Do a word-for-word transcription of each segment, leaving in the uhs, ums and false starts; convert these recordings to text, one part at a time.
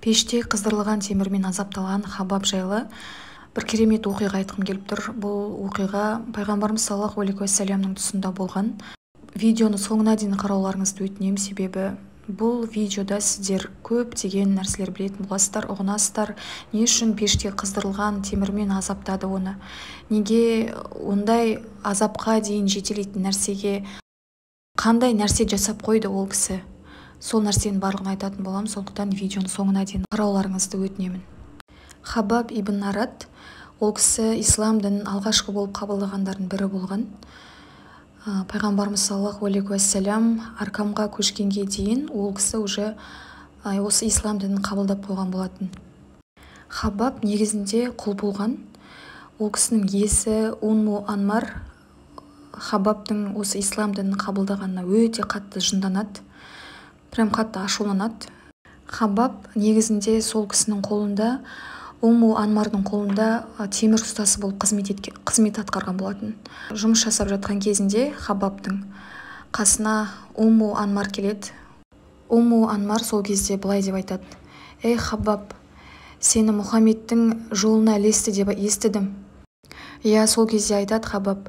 Пеште қыздырылған темірмен азапталған Хаббаб жайлы бір керемет оқиға айтқым келіп тұр. Бұл оқиға пайғамбарымыз саллаллаху алейхи уассаламның тұсында болған. Видеоны соңына дейін қарауларыңызды өтінемін, себебі бұл видеода сіздер көптеген нәрселер білетін боласыздар, ұғынасыздар. Не үшін пеште қыздырылған темірмен азаптады оны? Неге ондай азапқа дейін жетелейтін нәрсеге қандай нәрсе жасап қойды ол кісі? Сол нәрсенің барлығын айтатын боламын, сондықтан видеоны соңына дейін қарауларыңызды өтінемін. Хаббаб ибн Арат, ол кісі ислам дінін алғашқы болып қабылдағандардың бірі болған. Пайғамбарымыз саллаллаху алейхи уассалам Аркамға көшкенге дейін ол кісі уже осы ислам дінін қабылдап қойған болатын. Хаббаб негізінде құл болған. Ол кісінің иесі Умму Анмар Хаббабтың осы ислам дінін қабылдағанына өте қатты жынданады, прям қатты ашуланады. Хаббаб негізінде сол кісінің қолында, Умму Анмардың қолында темір ұстасы болып қызмет, еткен, қызмет атқарған болатын. Жұмыс жасап жатқан кезінде Хаббабтың қасына Умму Анмар келеді. Умму Анмар сол кезде былай деп айтады: «Ей Хаббаб, сені Мұхаммедтің жолына ілесті деп естідім». Иә, сол кезде айтады Хаббаб: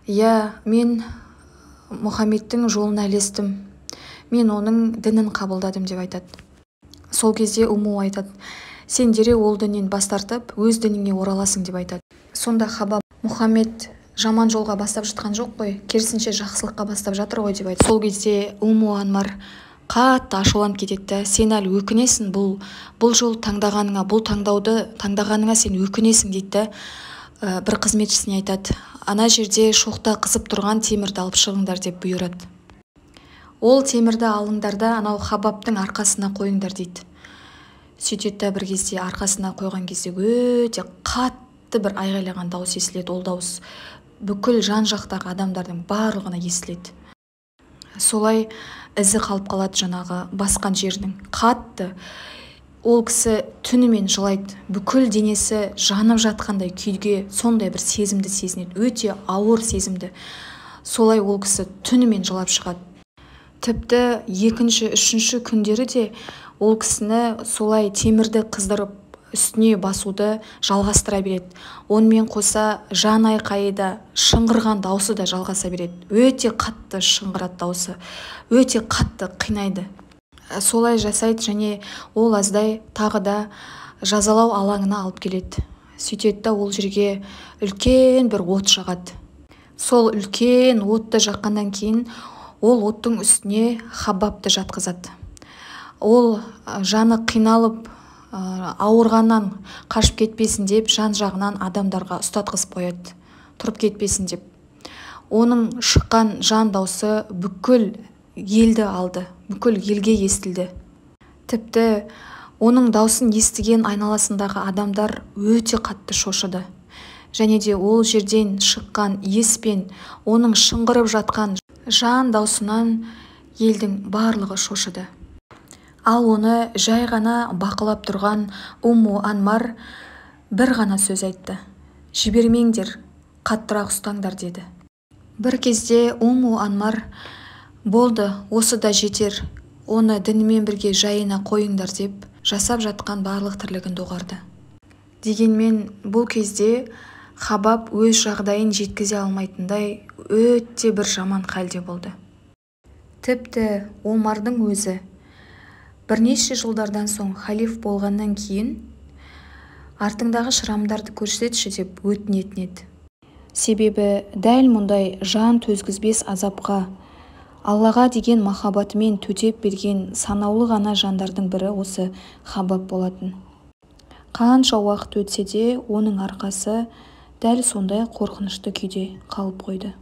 «Иә, мен Мұхаммедтің жолына ілестім. Мен оның дінін қабылдадым» деп айтады. Сол кезде Умму айтады: «Сен дереу ол діннен бас тартып, өз дініңе ораласың» деп айтады. Сонда Хаббаб: «Мұхаммед жаман жолға бастап жатқан жоқ қой, керісінше жақсылыққа бастап жатыр ғой» деп айтады. Сол кезде Умму Анмар қатты ашуланып кетеді. «Сен әлі өкінесің, бұл бұл жол таңдағаныңа, бұл таңдауды таңдағаныңа сен өкінесің» дейді. Бір қызметшісіне айтады: «Ана жерде шоқта қызып тұрған темірді алып шығыңдар» деп бұйырады. Ол темірді алыңдар да анау Хаббабтың арқасына қойыңдар дейді. Сөйтеді, бір кезде арқасына қойған кезде өте қатты бір айғайлаған дауыс естіледі. Ол дауыс бүкіл жан жақтағы адамдардың барлығына естіледі. Солай ізі қалып қалады жаңағы басқан жерінің. Қатты ол кісі түнімен жылайды, бүкіл денесі жанып жатқандай күйге, сондай бір сезімді сезінеді, өте ауыр сезімді. Солай ол кісі түнімен жылап шығады. Тіпті екінші, үшінші күндері де ол кісіні солай темірді қыздырып үстіне басуды жалғастыра береді. Онымен қоса жан айқайы да, шыңғырған даусы да жалғаса береді. Өте қатты шыңғырады даусы, өте қатты қинайды. Солай жасайды және ол аздай тағы да жазалау алаңына алып келеді. Сөйтеді, ол жерге үлкен бір от жағады. Сол үлкен отты жаққаннан кейін ол оттың үстіне Хаббабты жатқызады. Ол жаны қиналып, ауырғаннан қашып кетпесін деп жан жағынан адамдарға ұстатқызып қояды, тұрып кетпесін деп. Оның шыққан жан даусы бүкіл елді алды, бүкіл елге естілді. Тіпті оның даусын естіген айналасындағы адамдар өте қатты шошыды. Және де ол жерден шыққан еспен оның шыңғырып жатқан жан даусынан елдің барлығы шошыды. Ал оны жай ғана бақылап тұрған Умму Анмар бір ғана сөз айтты: «Жібермеңдер, қаттырақ ұстаңдар» деді. Бір кезде Умму Анмар: «Болды, осы да жетер, оны дінімен бірге жайына қойыңдар» деп жасап жатқан барлық тірлігін доғарды. Дегенмен бұл кезде Хаббаб өз жағдайын жеткізе алмайтындай өте бір жаман халде болды. Тіпті Омардың өзі бірнеше жылдардан соң халиф болғаннан кейін артыңдағы шырамдарды көрсетші деп өтінетін еді. Себебі дәл мұндай жан төзгізбес азапқа Аллаға деген махаббатымен төтеп берген санаулы ғана жандардың бірі осы Хаббаб болатын. Қанша уақыт өтсе де оның арқасы дәл сондай қорқынышты күйде қалып қойды.